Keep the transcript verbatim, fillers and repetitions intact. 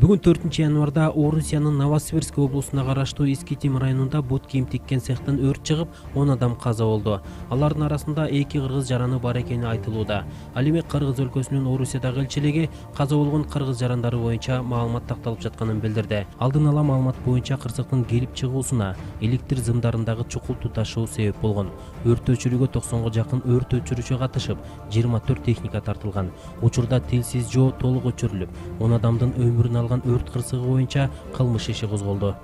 Бүгүн төртүнчү январда Орусиянын Новосибирск облусуна караштуу Искитим районунда бут кийим тиккен цехтен өрт чыгып, он адам каза болду. Алардын арасында эки кыргыз жараны бар экени айтылууда. Ал эми Кыргыз өлкөсүнүн Орусиядагы элчилиги каза болгон кыргыз жарандары боюнча маалымат такталып жатканын билдирди. Алдын ала маалымат боюнча кырсыктын келип чыгуусуна электр зымдарындагы чукул туташуу себеп болгон. Өрт өчүрүүгө токсонго жакын өрт өчүрүүчү катышып, жыйырма төрт техника тартылган. Учурда тилсиз жоо толук өчүрүлүп, он адамдын өмүрүн алган өрт кырсыгы боюнча кылмыш иши козголду.